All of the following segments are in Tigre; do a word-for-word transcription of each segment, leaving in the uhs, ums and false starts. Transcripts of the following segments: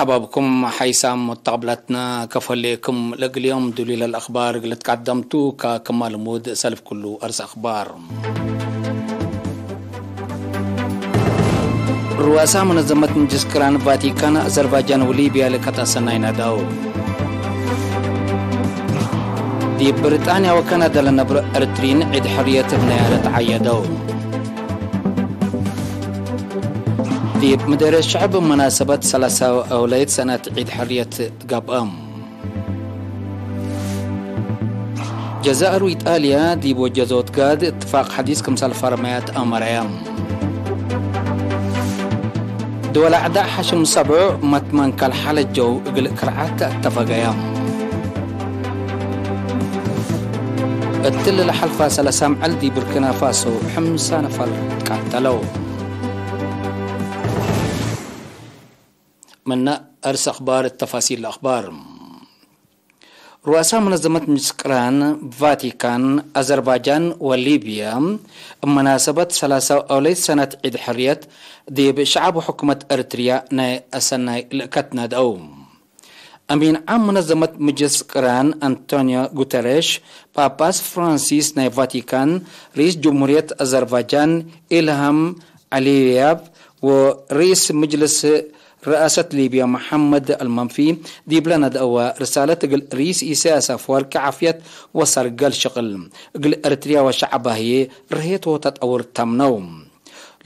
ሐባብኩም ሓይሳም ሙተቅብላትና ከፈሌኩም። ለእግል ዮም ዱሊለ ለአክባር እግል ትቀደምቱ፣ ከክማ ልሙድ ሰልፍ ኩሉ አርስ አክባር። ሩአሳ መነዘመት ምጅልስ ቅራን ቫቲካን፣ አዘርባጃን ወሊብያ ልእከት አሰናይ ናደው። ዲብ ብሪጣንያ ወካናዳ ለነብሮ ኤርትሪን ዒድ ሕርየት እብ ነያረት ዐየደው። ዲብ ምደርየት ሸዕብ መናሰበት ሰላሳ አውለይት ሰነት ዒድ ሕርየት ትገብአም። ጀዛእር ወኢጣልያ ዲብ ወጀዞት ጋድ እትፋቅ ሐዲስ ክምሰል ፈርመያት አመረያ። ድወል አዕዳእ ሐሽም ሰብዑ መትመንከል ሐለጀው እግል ክርዓት ተአተፈገያ። እትሊ ለሐልፋ ሰለሳ አምዕል ዲብ ቡርኪና ፋሶ ሕምሳ ነፈር ትቃተለው። ምነ አርስ አክባር፣ ተፋሲል አክባር። ሩአሳ መነዘመት ምጅልስ ቅራን ቫቲካን፣ አዘርባጃን ወሊብያ እብ መናሰበት ሰላሳ አውለይት ሰነት ዒድ ሕርየት ዲብ ሸዐብ ወሕኩመት ኤርትርያ ናይ አሰናይ ልእከት ነድአው። አሚን ዓም መነዘመት ምጅልስ ቅራን አንቶኒዮ ጉተሬሽ፣ ጳጳስ ፍራንሲስ ናይ ቫቲካን፣ ርኢስ ጅምሁርየት አዘርባጃን ኢልሃም ዐሊየቭ ወርኢስ ምጅልስ ርአሰት ሊብያ መሐመድ አልመንፊ ዲብለ ነድአወ ርሳለት እግል ርኢስ ኢሳያስ አፈወርቂ ዓፍየት ወሰርገል ሽቅል እግል ኤርትርያ ወሸዐባ ህዬ ርሄት ወተጠውር ተምነው።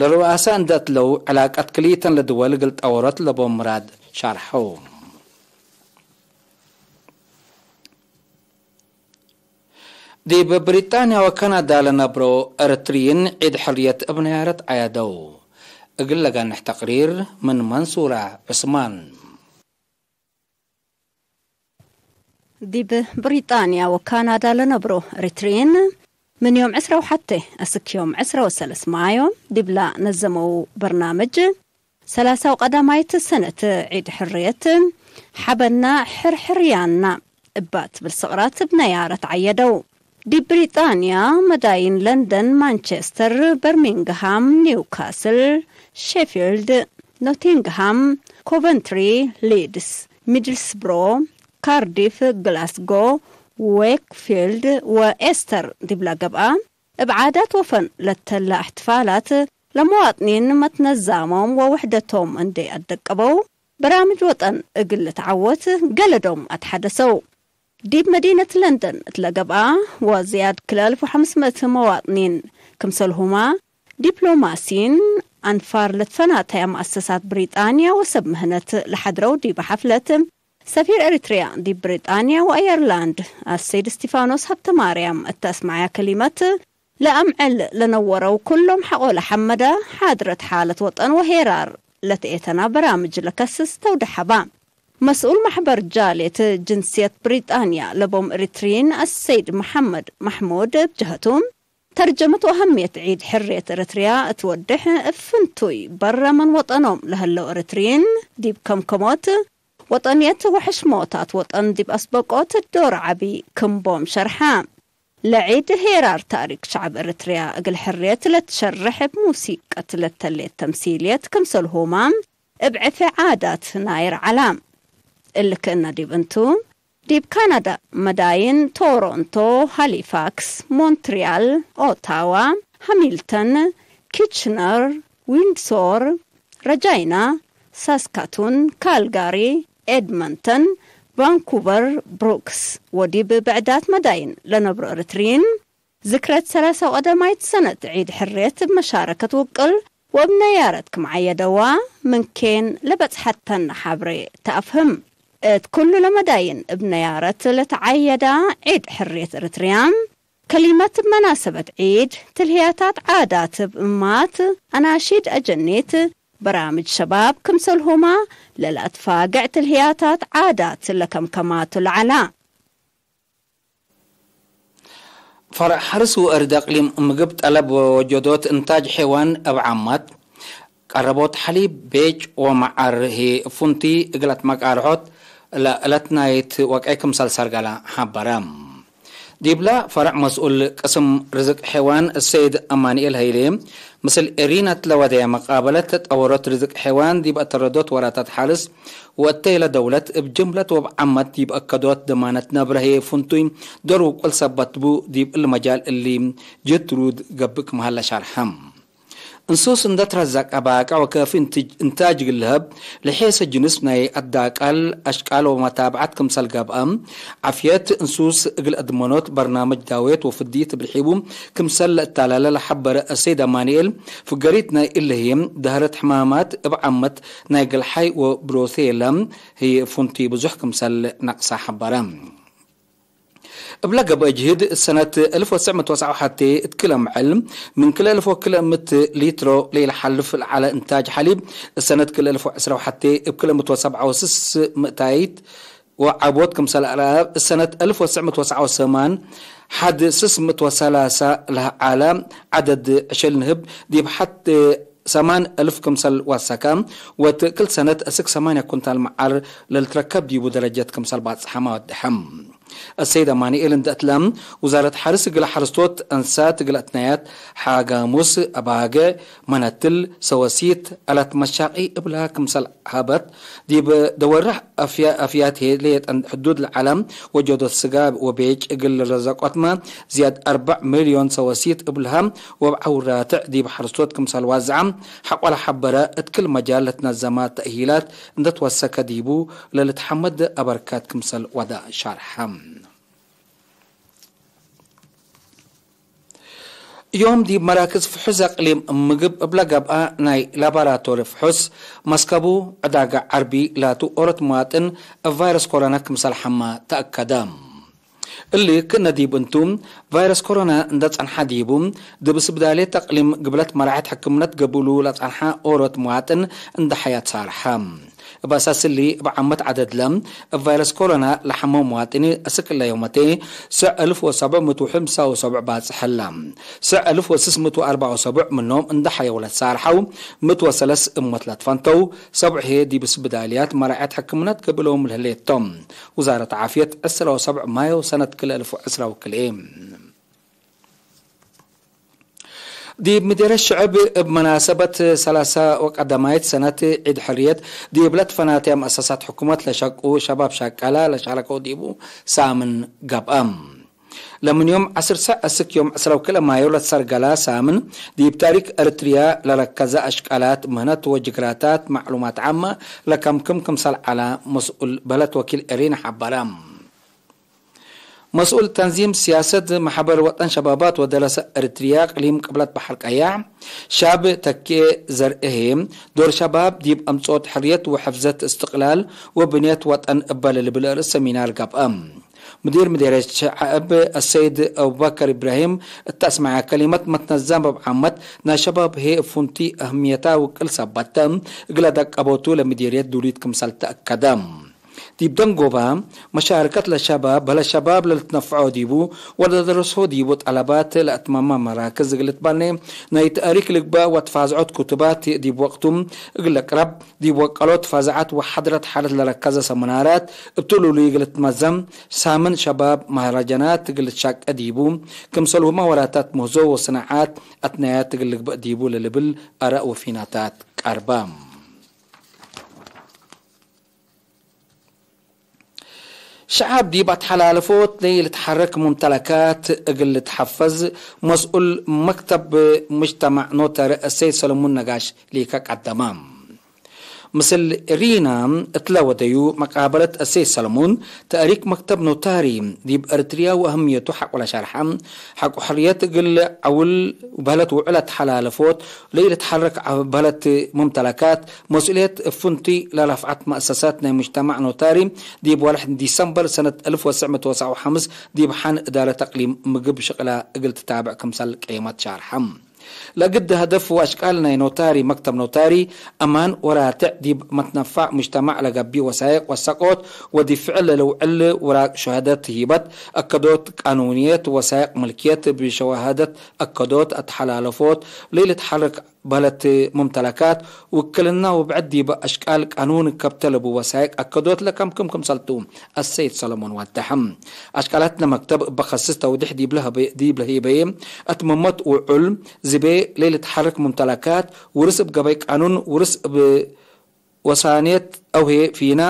ለሩአሳ እንደ እትለው ዕላቀት ክልኢተን ለድወል እግል ጠወሮት ለቦም ምራድ ሻርሐው። ዲብ ብሪጣንያ ወካናዳ ለነብሮ ኤረትርዪን ዒድ ሕርየት እብ ነያረት ዐያደው። እግል ለገንሕ ተቅሪር ምን መንሱራ ዑስማን። ዲብ ብሪጣንያ ወካናዳ ለነብሮ ኤረትርዪን ምን ዮም ዕስራ ወሐቴ አስክ ዮም ዕስራ ወሰለስ ማዮ ዲብላ ነዘመው በርናምጅ፣ ሰላሳው ቀዳማይት ሰነት ዒድ ሕርየት፣ ሐበና ሕርሕርያና እባ ትብል ስቅራት እብ ነያረት ዐየደው። ዲብ ብሪጣንያ መዳይን ለንደን፣ ማንቸስተር፣ በርሚንግሃም፣ ኒውካስል፣ ሼፊልድ፣ ኖቲንግሃም፣ ኮቨንትሪ፣ ሊድስ፣ ሚድልስብሮ፣ ካርዲፍ፣ ግላስጎ፣ ዌክፊልድ ወኤስተር ዲብላ ገብአ፣ እብ ዓዳት ወፈን ለተለ እሕትፋላት ለመዋጥኒን መትነዛሞም ወውሕደቶም እንዴ አደቀበው፣ በራምጅ ወጠን እግል ልትዓወት ገለዶም አትሐደሰው። ዲብ መዲነት ለንደን እት ለገብአ ወዝያድ ክል አልፍ ወሐምስ ምእት መዋጥኒን ክምሰልሁማ ዲፕሎማሲን አንፋር ለትፈናተያ መአሰሳት ብሪጣንያ ወሰብ ምህነት ለሐድረው ዲበ ሐፍለት፣ ሰፊር ኤሪትርያ ዲብ ብሪጣንያ ወአየርላንድ አሰይድ እስቲፋኖስ ሀብተማርያም እተ አስመዐያ ከሊመት፣ ለአምዕል ለነወረው ኩሎም ሐቆ ለሐመደ፣ ሓድረት ሓለት ወጠን ወሄራር ለትኤተና በራምጅ ለከስስ ተውደሐ በ። መስኡል መሕበር ጃልየት ጅንስየት ብሪጣንያ ለቦም ኤሪትርዪን አሰይድ መሐመድ መሕሙድ እብ ጀሀቱ፣ ተርጀመት ወአሀምየት ዒድ ሕርየት ኤረትርያ እት ወዴሕ፣ እብ ፍንቱይ በረ ምን ወጠኖም ለህለው ኤረትርዪን ዲብ ከምከሞት ወጠንየት ወሕሽሞታት ወጠን ዲብ አስበቆት ዶር ዐቢ ክም ቦም ሸርሐ። ለዒድ ሄራር ታሪክ ሸዐብ ኤረትርያ እግል ሕርየት ለትሸርሕ እብ ሙሲቀት ለተሌት ተምሲልየት ክምሰልሁማ እብ ዕፌ ዓዳት ናይር ዐላ። እሊ ክእነ ዲብ እንቱ፣ ዲብ ካናዳ መዳይን ቶሮንቶ፣ ሃሊፋክስ፣ ሞንትሪያል፣ ኦታዋ፣ ሃሚልተን፣ ኪችነር፣ ዊንድሶር፣ ረጃይና፣ ሳስካቱን፣ ካልጋሪ፣ ኤድመንተን፣ ቫንኩቨር፣ ብሩክስ ወዲብ ብዕዳት መዳይን ለነብሮ ኤረትርዪን፣ ዝክረት ሰላሳው ቀዳማይት ሰነት ዒድ ሕርየት እብ መሻረከት ውቅል ወእብ ነያረት ክም ዐየደዋ፣ ምን ኬን ለበጽሐተን ሐብሬ ተአፍህም። እት ኩሉ ለመዳይን እብ ነያረት ለተዐየዳ ዒድ ሕርየት ኤረትርያ፣ ከሊመት እብ መናሰበት ዒድ፣ ትልህያታት ዓዳት እብ እማት፣ አናሺድ አጀኒት፣ በራምጅ ሸባብ ክምሰልሁማ ለለአትፋግዕ ትልህያታት ዓዳት ለከምከማቱ ለዐላ። ፈርዕ ሐርስ ወእርድ አቅሊም ምግብ ጠለብ ወወጀዶት እንታጅ ሐይዋን እብ ዓማት፣ ቀረቦት ሐሊብ፣ ቤጭ ወመዓር ህይ እብ ፍንቱይ እግል አትመቃርሖት ለእለት ናይት ወቅዒ ክምሰል ሰርገለ ሐበረ። ዲብለ ፈርዕ መስኡል ቅስም ርዝቅ ሐይዋን ሰይድ አማንኤል ሀይሌ፣ ምስል ኤሪና እት ለወደየ መቃበለት፣ ተጠወሮት ርዝቅ ሐይዋን ዲብ አተረዶት ወራታት ሐርስ ወእተይለ ደውለት፣ እብ ጅምለት ወእብ ዓመት ዲብ አከዶት ደማነት ነብረ ህዬ ፍንቱይ ዶር ውቁል ሰበት ቡ። ዲብ እሊ መጃል እሊ ጅህድ ትሩድ ገብእ ክም ሀለ ሻርሐ። እንሱስ እንደ ትረዘቀ ባቅዕ ወከፊ እንታጅ እግል ለሀብ፣ ለሔሰ ጅንስ ናይ አዳቃል አሽቃል ወመታብዐት ክምሰል ገብአ፣ ዓፍየት እንሱስ እግል አድመኖት በርናምጅ ዳዌት ወፍድይት እብ ርሒቡ ክምሰል ለእታላለ ለሐበረ አሰይድ አማንኤል፣ ፍገሪት ናይ እለ ህዬ፣ ደህረት ሕማማት እብ ዓመት ናይ ገልሓይ ወብሮሴለ ህዬ ፍንቱይ ብዙሕ ክምሰል ነቅሳ ሐበረ። እብለ ገብአ ጅህድ፣ ሰነት አልፍ ወትስዕ ምእት ወሰብዓ ወሐቴ እት ክለ ምዕል፣ ምን ክልኤ አልፍ ወክልኤ ምእት ሊትሮ ለኢለሓልፍ ለዐለ እንታጅ ሐሊብ፣ ሰነት ክልኤ አልፍ ወዕስራ ወሐቴ እብ ክልኤ ምእት ወሰብዓ ወስስ ምእታይት ወዐቦት ክምሰል አርአብ፣ ሰነት አልፍ ወትስዕ ምእት ወሰብዓ ወሰማን ሐድ ስስ ምእት ወሰላሳ ለዐለ ዐደድ ዕሸል ንህብ፣ ዲብ ሐድ ሰማን አልፍ ክምሰል ወሰከ፣ ወእት ክል ሰነት አስክ ሰማንያ ኩንታል መዓር ለልትረከብ ዲቡ ደረጀት ክምሰል ባጽሐመ ወደሐም። አሰይድ አማንኤል እንደ እትለ፣ ውዛረት ሐርስ እግለ ሐረስቶት፣ አንሳት እግለ አትናያት፣ ሐጋሙስ፣ አባገ፣ መነትል፣ ሰወሲት፣ አላት መሻቂ እብላ ክምሰል ሀበት፣ ዲብ ደወርሕ አፍያ-፣ አፍያት ሄ ሌጠን ሕዱድ ለዐለ ወጀዶት ስጋ ወቤጭ እግል ረዘቆትመ ዝያድ አርበዕ ሚልዮን ሰወሲት እብልሃ ወእብ ዐውራትዕ ዲብ ሐረስቶት ክምሰል ዋዝዐ ሐቆለ ሐበረ፣ እት ክል መጃል ለትነዘመ ተእሂላት እንደ ትወሰከ ዲቡ ለልትሐመድ አበርካት ክምሰል ወደ ሻርሐ። ዮም ዲብ መራክዝ ፍሑስ አቅሊም ምግብ እብለ ገብአ ናይ ላባራቶሪ ፍሑስ መስከቡ ዕዳጋ ዐርቢ ላቱ ኦሮት መዋጥን እብ ቫይረስ ኮሮና ክምሰል ሐመ ተአከደ። እሊ ክእነ ዲብ እንቱ፣ ቫይረስ ኮሮና እንደ ጸንሐ ዲቡ፣ ዲብ ስብዳሌት አቅሊም ግብለት መራሐት ሕክምነት ገብእሉ ለጸንሐ ኦሮት መዋጥን እንደ ሐያት ሳርሐ። እብ አሳስ እሊ፣ እብ ዓመት ዐደድለ እብ ቫይረስ ኮሮና ለሐመው መዋጥኒ፣ አስክ እለ ዮመቴ ስዕ አልፍ ወሰብዕ ምእት ወሐምሳ ወሰብዕ ባጽሕ ህላ። ስዕ አልፍ ወስስ ምእት ወአርበዕ ወሰብዕ ምኖም እንደ ሐየው ለትሳርሐው፣ ምእት ወሰለስ እሞት ለትፈንተው፣ ሰብዕ ህዬ ዲብ ስብዳልያት መራዐት ሕክምነት ገብእሎም ለህሌቶም። ውዛረት ዓፍየት፣ ዕስራ ወሰብዕ ማዮ ሰነት ክልኤ አልፍ ወዕስራ ወክልኤ። ዲብ ምዴርየት ሽዕብ እብ መናሰበት ሰላሳ ወቀደማይት ሰነት ዒድ ሕርየት ዲብ ለትፈናተየ መአሰሳት ሕኩመት ለሸቁ ሸባብ ሸቀላ ለሻረከው ዲቡ ሳምን ገብአ። ለምን ዮም ዐስር ሰዕ እስክ ዮም ዕስራ ወክልኤ ማዮ ለትሰርገላ ሳምን ዲብ ታሪክ ኤረትርያ ለረከዘ አሽቃላት ምህነት ወጅግራታት መዕሉማት ዓመ ለከምክም ክምሰል ዐለ መስኡል በለት ወኪል ኤሪና ሐበረ። መስኡል ተንዚም ስያሰት መሕበር ወጠን ሸባባት ወደረሰ ኤረትርያ እቅሊም ቅብለት በሐር ቀያሕ፣ ሻብ ተኬ ዘርኤ፣ ዶር ሸባብ ዲብ አምጽኦት ሕርየት ወሕፍዘት እስትቅላል ወብንየት ወጠን እበ ለልብል ርእስ ሰሚናር ገብአ። ምዲር ምዴርየት ሸዐብ አሰይድ አቡበከር ኢብራሂም እተ አስመዐ ከሊመት መትነዛም እብ ዓመት ናይ ሸባብ ህዬ እብ ፍንቱይ አህምየታ ውቅል ሰበት እግለ ደቀቦቱ ለምዴርየት ዱሉይት ክምሰል ተአከደ። ዲብ ደንጎባ፣ መሻረከት ለሸባብ፣ በለ ሸባብ ለልትነፈዖ ዲቡ ወለደረሶ ዲቡ ጠለባት ለአትማማ መራክዝ እግል ልትበኔ፣ ናይ ተእሪክ ልግበእ ወትፋዝዖት ክቱባት ዲብ ወቅቱ እግል ልቅረብ፣ ዲብ ወቀሎት ፋዝዓት ወሐድረት ሐለት ለረከዘ ሰምናራት እብ ትሉሉይ እግል ልትመዘም፣ ሳምን ሸባብ መህረጀናት እግል ልትሻቄ ዲቡ፣ ክምሰልሁመ ወራታት ምህዞ ወሰናዓት አትናያት እግል ልግበእ ዲቡ ለልብል አራእ ወፊናታት ቀርበ። ሸዐብ ዲብ አተሐላለፎት ለኢልትሐረክ ሙምተለካት እግል ልትሐፈዝ፣ መስኡል መክተብ ሙጅተማዕ ኖታሪ አሰይድ ሰለሙን ነጋሽ ሊከ ቀደመ። ምስል ሪና እትለ ወደዩ መቃበለት አሰይድ ሰለሙን፣ ተእሪክ መክተብ ኖታሪ ዲብ ኤረትርያ ወአህምየቱ ሐቆ ለሸርሐ፣ ሐቆ ሕርየት እግል ዐውል በህለት ውዑል አተሐላለፎት፣ ለኢልትሐረክ በህለት ሙምተለካት፣ መስኡልየት እብ ፍንቱይ ለረፍዐት መአሰሳት ናይ ሙጅተማዕ ኖታሪ፣ ዲብ ወርሕ ዲሰምበር ሰነት አልፍ ወትስዕ ምእት ወሰብዓ ወሐምስ ዲብ ሐን እዳረት አቅሊም ምግብ ሽቅላ እግል ትታብዕ ክምሰል ቀየመት ሻርሐ። ለግድ ሀደፍ ወአሽቃል ናይ ኖታሪ መክተብ ኖታሪ፣ አማን ወራትዕ ዲብ መትነፋዕ ሙጅተማዕ ለገብእ ወሳይቅ ወሰቆት ወዲብ ፍዕል ለልውዕል ውራቅ ሸሃደት ሂበት፣ አከዶት ቃኑንየት ወሳይቅ ምልክየት ብሸዋሃደት አከዶት አተሐላለፎት፣ ለኢልትሐረክ በህለት ሙምተለካት ውክልና ወብዕድ ዲብ አሽቃል ቃኑን ከብተ ለቡ ወሳይቅ አከዶት ለከምክም ክምሰልቱ አሰይድ ሰለሞን ዋዳሐ። አሽቃላትነ መክተብ እበ ከስስ ተውዲሕ ዲብ ለህበ-፣ ዲብ ለህይበየ አትመመት ውዑል ዝቤ ለኢልትሐርክ ሙምተለካት ውርስ እብ ገበይ ቃኑን ውርስ እብ ወሳኔት አውሄ ፊና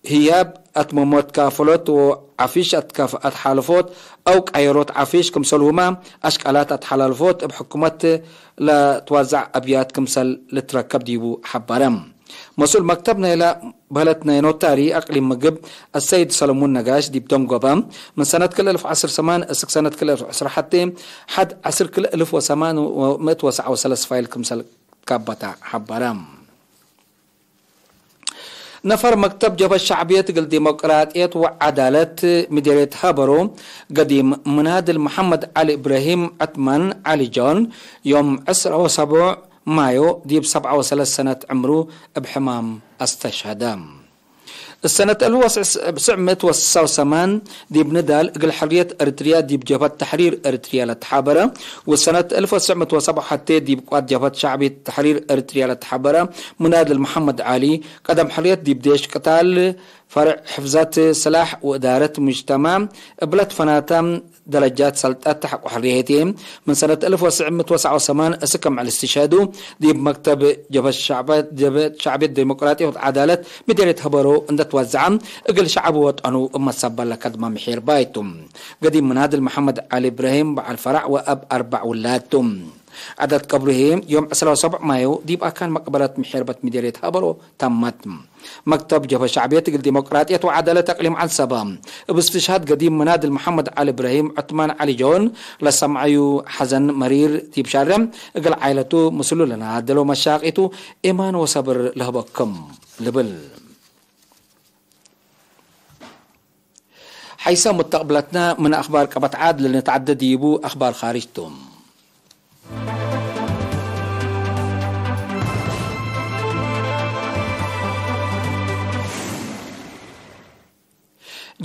ህያብ አትመሞት ካፈሎት ወዓፊሽ አትካፍ-፣ አትሓለፎት አው ቃየሮት ዓፊሽ ክምሰልሁመ አሽቃላት አትሓላልፎት እብ ሕኩመት ለትዋዛዕ አብያት ክምሰል ልትረከብ ዲቡ ሐበረ። መስኡል መክተብ ናይለ በህለት ናይ ኖታሪ አቅሊም ምግብ አሰይድ ሰለሙን ነጋሽ ዲብ ደንጎበ፣ ምን ሰነት ክል እልፍ ወዐስር ሰማን እስክ ሰነት ክል እልፍ ወዐስር ሐቴ ሐድ ዐስር ክል እልፍ ወሰማን ወምእት ወሰዓ ወሰለስ ፋይል ክምሰል ካበታ ሐበረ። ነፈር መክተብ ጀብሀት ሸዕብየት እግል ዲሞቅራጥየት ወዐዳለት ምዴርየት ሀበሮ፣ ገዲም ምናድል መሐመድ ዐሊ እብራሂም ዐትማን ዐሊ ጆን፣ ዮም ዕስራ ወሰቡዕ ማዮ ዲብ ሰብዓ ወሰለስ ሰነት ዕምሩ እብ ሕማም አስተሽሀደ። ሰነት እልፍ ወትስዕ ምእት ወስሳ ወሰማን ዲብ ንዳል እግል ሕርየት ኤሪትርያ ዲብ ጀብሀት ተሕሪር ኤሪትርያ ለተሓበረ፣ ወሰነት እልፍ ወትስዕ ምእት ወሰብዓ ወሐቴ ዲብ ቅዋት ጀብሀት ሸዕብየት ተሕሪር ኤሪትርያ ለተሓበረ ምናድል መሐመድ ዐሊ፣ ቀደም ሕርየት ዲብ ዴሽ ቅታል፣ ፈርዕ ሕፍዘት ስላሕ ወእዳረት ሙጅተማዕ እብለ ትፈናተ ደረጃት ሰልጠት ተሐቆ ሕርየት ህዬ፣ ምን ሰነት እልፍ ወትስዕ ምእት ወሰብዓ ወሰማን እስክ ምዕል እስትሽሀዱ፣ ዲብ መክተብ ጀብሀት ሸዕበ-፣ ጀብሀት ሸዕብየት ዲሞቅራጥየት ወዐዳለት ምዴርየት ሀበሮ እንደ ትወዘዐ፣ እግል ሸዐቡ ወጠኑ እብ መሰበል ለከድመ ምሒር ባይቱ። ገዲም ምናድል መሐመድ ዐሊ እብራሂም በዐል ፈረዕ ወአብ አርበዕ ውላድ ቱ። ዐደት ቀብሩ ህዬ፣ ዮም ዕስራ ወሰቡዕ ማዮ ዲብ አካን መቅበረት ምሒርበት ምዴርየት ሀበሮ ተመት። መክተብ ጀብሀት ሸዕብየት እግል ዲሞቅራጥየት ወዐዳለት አቅሊም ዐንሰበ፣ እብ እስትሽሃድ ገዲም ምናድል መሐመድ ዐሊ እብራሂም ዑትማን ዐሊ ጆን ለሰምዐዩ ሐዘን መሪር ዲብ ሸሬ፣ እግል ዓኢለቱ ምስሉ ለነሃደሎ መሻቂቱ ኤማን ወሰብር ለህበክም ልብል። ሐይሰ ሙስተቅብለትነ ምን አክባር ቀበት ዓድ ለልንትዐደ ዲቡ አክባር ካርጅ ቱ።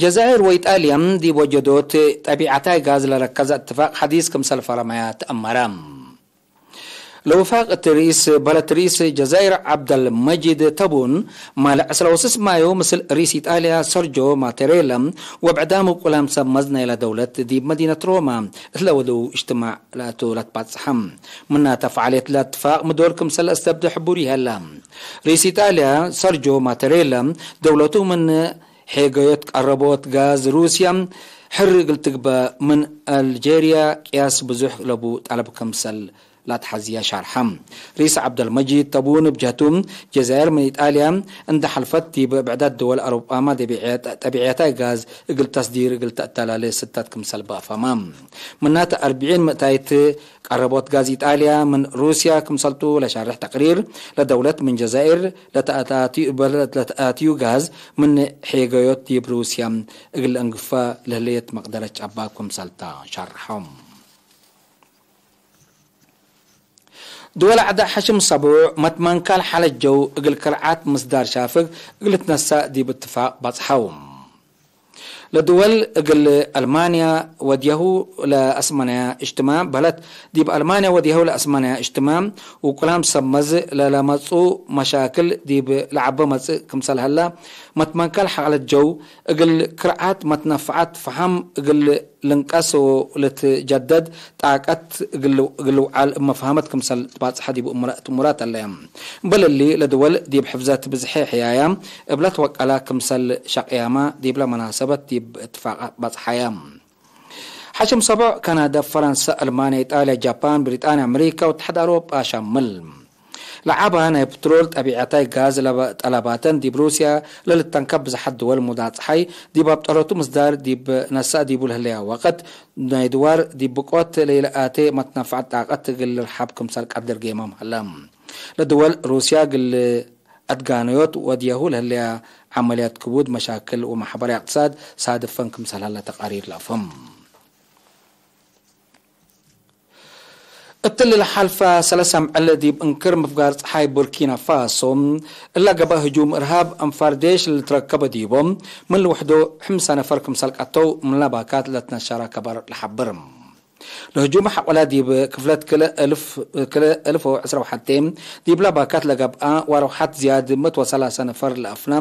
ጀዛይር ወኢጣልያ ዲብ ወጀዶት ጠቢዐታይ ጋዝ ለረከዘ እትፋቅ ሐዲስ ክምሰል ፈረመያ ተአመረ። ለውፋቅ እት ርኢስ በለት ርኢስ ጀዛይር ዐብደልመጂድ ተቡን፣ ማለ ዕስራ ወስስ ማዮ ምስል ርኢስ ኢጣልያ ሰርጆ ማቴሬላ ወብዕዳም ውቁላም ሰብ መዝ ናይለ ደውለት ዲብ መዲነት ሮማ እት ለወደው እጅትማዕ ለአቱ ለትባጽሐ። ምናተ ፈዓልየት ለእትፋቅ ምዶር ክምሰል ለአስተብደ ሕቡር ይሀላ። ርኢስ ኢጣልያ ሰርጆ ማቴሬላ ደውለቱ ምን ሔገዮት ቀረቦት ጋዝ ሩስያ ሕር እግል ትግበእ ምን አልጄርያ ቅያስ ብዙሕ ለቡ ጠለብ ክምሰል ለአትሐዝየ ሸርሐ። ርኢስ ዐብደልመጂድ ተቡን እብ ጀህቱ፣ ጀዛይር ምን ኢጣልያ እንደ ሐልፈት ዲብ ብዕዳት ድወል አውሮጳመ ጠቢዐታይ ጋዝ እግል ተስዲር እግል ተአተላሌ ስተት ክምሰል በአፈመ። ምናተ አርብዒን ምእታይት ቀረቦት ጋዝ ኢጣልያ ምን ሩስያ ክምሰልቱ ለሻርሕ ተቅሪር፣ ለደውለት ምን ጀዛይር ለተአታትዩ፣ ለተአትዩ ጋዝ ምን ሔገዮት ዲብ ሩስያ እግል ለእንግፈ ለህሌት መቅደረት ጨባብ ክምሰልታ ሸርሐ። ድወል ዐደ ሐሽም ሰቡዕ መትመንካል ሐለት ጀው እግል ከርዓት ምስዳር ሻፍግ እግል ልትነሰእ ዲብ እትፋቅ በጽሐው። ለድወል እግል አልማንያ ወድያሁ ለአስመናያ እጅትማዕ በህለት፣ ዲብ አልማንያ ወድያሁ ለአስመናያ እጅትማዕ ውቁላም ሰብ መዝ ለለመጽኡ መሻክል ዲብ ለዐበ መጽእ ክምሰል ሀላ፣ መትመንካል ሐለት ጀው እግል ክርዓት መትነፈዐት ፈሀም እግል ልንቀስ ወልትጀደድ ጣቀት እግል፣ እግል ልውዓል እብ መፍሀመት ክምሰል ትባጽሐ ዲብ እሙራ-፣ እት እሙራት ዐለየ። እምበል እሊ፣ ለድወል ዲብ ሕፍዘት ብዝሐ ሕያያ እብለ ትወቀላ ክምሰል ሸቅያመ ዲብለ መናሰበት ዲብ እትፋቅ በጽሐየ። ሐሽም ሰቦዕ፣ ካናዳ፣ ፈረንሰ፣ አልማንያ፣ ኢጣልያ፣ ጃፓን፣ ብሪጣንያ፣ አምሪካ ወእትሓድ አውሮጳ ሸምል። ለዐበ ናይ ፕትሮል፣ ጠቢዐታይ ጋዝ ለበ-፣ ጠለባተን ዲብ ሩስያ ለልተንከብ ብዝሓት ድወል ሙዳጽሓይ ዲብ አብጠረቱ ምስዳር ዲብ ነሰአ ዲቡ ለህለያ ወቅት፣ ናይ ድዋር ዲብ ብቆት ለኢለአቴ መትነፈዐት ጣቀት እግል ልርሐብ ክምሰል ቀድር ጌመም ሀለ። ለድወል ሩስያ እግል አትጋነዮት ወድየሁ ለህለያ ዐመልያት ክቡድ መሻክል ወማሕበራዊ እቅትሳድ ሳድፈን ክምሰል ሀለ ተቃሪር ለአፍህም። እትሊ ለሐልፈ ሰለሰ አምዕል ዲብ እንክር ምፍጋር ጸሓይ ቡርኪና ፋሶ እለ ገብአ ህጁም እርሃብ አንፋር ዴሽ ለልትረከበ ዲቦም ምን ልውሕዶ ሕምሰ ነፈር ክምሰል ቀተው ምን ለባካት ለትነሸረ ከበር ለሐብር። ለህጁም ሐቆላ ዲብ ክፍለት ክልኤ እልፍ፣ ክልኤ እልፍ ወዕስራ ወሐቴ ዲብላ ባካት ለገብአ ወረውሐት ዝያድ ምእት ወሰላሰ ነፈር ለአፍና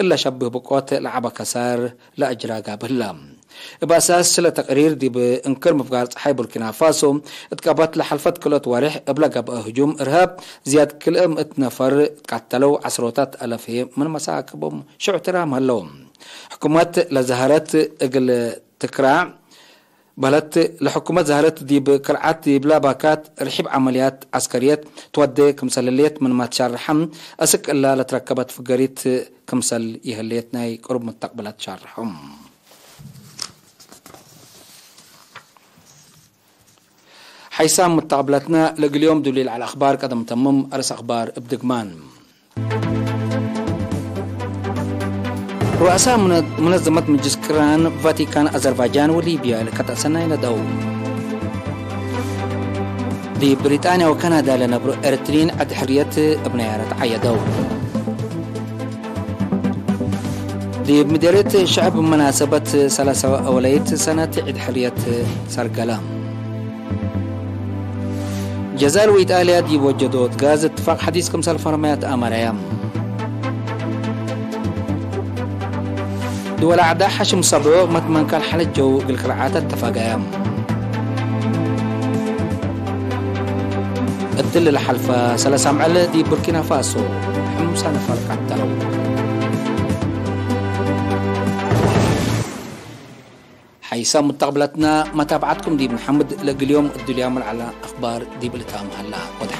እለ ሸብህ ብቆት ለዐበ ከሳር ለአጅራ ጋብህ ህላ። እብ አሳስ ለተቅሪር ዲብ እንክር ምፍጋር ጸሓይ ቡርኪና ፋሶ እት ቀበት ለሐልፈት ክልኦት ወሬሕ እብለ ገብአ ህጁም እርሃብ ዝያድ ክልኤ ምእት ነፈር ትቃተለው፣ ዐስሮታት አለፍ ምን መሳክቦም ሽዑ ትራም ሀለው። ሕኩመት ለዛህረት እግል ትክራዕ በህለት። ለሕኩመት ዛህረት ዲብ ክርዓት ዲብላ ባካት ርሒብ ዐመልያት ዐስከርየት ትወዴ ክምሰል ህሌት ምንመ ትሻርሐ፣ አስክ እላ ለትረከበት ፍገሪት ክምሰል ይህሌት ናይ ቅሩብ ምተቅብላት ሻርሐ። ሐይሳም ሙተቅብለትነ ለእግል ዮም ዱሊ ለዐለ አኽባር ቀደም ተምም። አርስ አኽባር እብ ድግማን። ሩአሳ ሙነ-፣ ሙነዘመት ምጅልስ ቅራን ቫቲካን፣ አዘርባይጃን ወሊብያ ለከተአሰናይ ነደው። ዲብ ብሪጣንያ ወካናዳ ለነብሩ ኤረትርዪን ዐድ ሕርየት እብ ነያረት ዐየደው። ዲብ ምዴርየት ሸዐብ መናሰበት ሰላሳ ወአወለይት ሰነት ዒድ ሕርየት ሰርገለ። ጀዛይር ወኢጣልያ ዲብ ወጀዶት ጋዝ እትፋቅ ሐዲስ ክምሰል ፈርመያ ተአመረየ። ድወል አዕዳእ ሐሽም ሰብዑ መትመንካን ሐለት ጀው እግል ክርዓተ ተፋገየ። እትሊ ለሐልፈ ሰለስ አምዕል ዲብ ቡርኪና ፋሶ ሕምሳ ነፈር ቀተለው። ሐይሳም ሙተቅብለትነ፣ መታብዐትኩም ዲብ ነሐምድ። ለእግል ዮም እዱልያም ለዐለ አኽባር ዲብ ልታም ሀላ። ወደ